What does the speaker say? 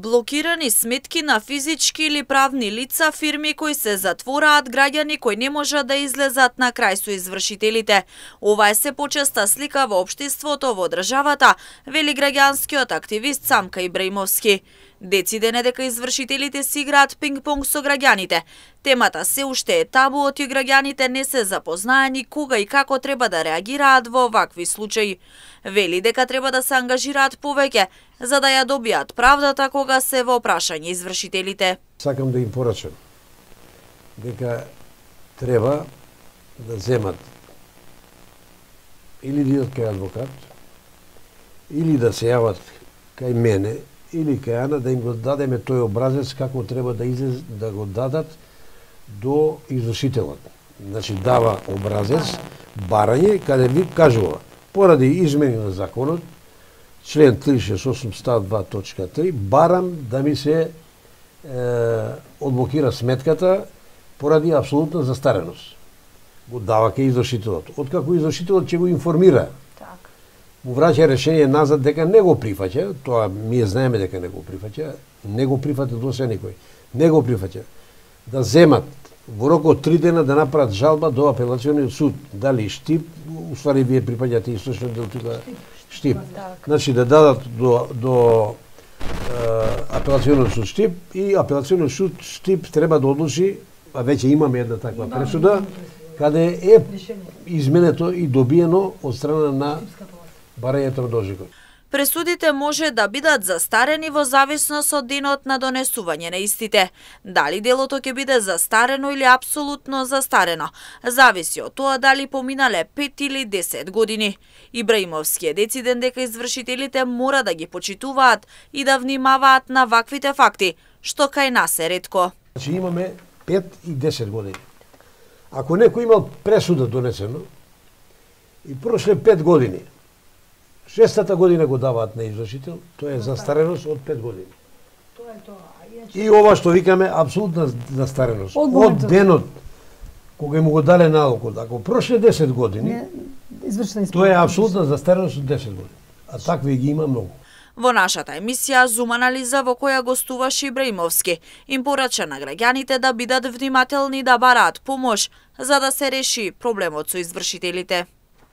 Блокирани сметки на физички или правни лица, фирми кои се затвораат, граѓани кои не можат да излезат на крај со извршителите. Ова е се почеста слика во општеството во државата, вели граѓанскиот активист Самка Ибраимовски. Дециден е дека извршителите си играат пинг-понг со граѓаните. Темата се уште е табу, оти граѓаните не се запознаени кога и како треба да реагираат во вакви случаи. Вели дека треба да се ангажираат повеќе, за да ја добијат правдата кога се во прашање извршителите. Сакам да им порачам дека треба да земат или да идат кај адвокат, или да се јават кај мене, или кај Ана, да им го дадеме тој образец како треба да излез, да го дадат до извршителот. Значи дава образец, барање, каде ви кажува, поради измени на законот, член 368 став 2.3, барам да ми се одблокира сметката поради апсолутна застареност. Го дава кај извршителот. Откако извршителот ќе го информира, му враќа решение назад дека не го прифаќа, тоа ние знаеме дека не го прифаќа, не го прифаќа до се никој, не го прифаќа. Да земат во рок од 3 дена да направат жалба до апелациониот суд, дали Штип, уствари вие припаѓате источно дел тука Штип. Значи да дадат до апелациониот суд Штип и апелациониот суд Штип треба да одлучи, а веќе имаме една таква пресуда, каде е изменето и добиено од страна на барањето на должникот. Пресудите може да бидат застарени во зависност од денот на донесување на истите. Дали делото ќе биде застарено или апсолутно застарено, зависи од тоа дали поминале 5 или 10 години. Ибраимовски е дециден дека извршителите мора да ги почитуваат и да внимаваат на ваквите факти, што кај нас е ретко. Значи имаме 5 и 10 години. Ако некој имал пресуда донесено и прошле 5 години, 6-та година го даваат на извршител, тоа е застареност од 5 години. Тоа е тоа. И ова што викаме апсолутна застареност. Од денот кога му го дале налогот, ако прошле 10 години, тоа е апсолутна застареност од 10 години. А такви ги има многу. Во нашата емисија Зум анализа во која гостуваше Ибраимовски, им порача на граѓаните да бидат внимателни да бараат помош за да се реши проблемот со извршителите.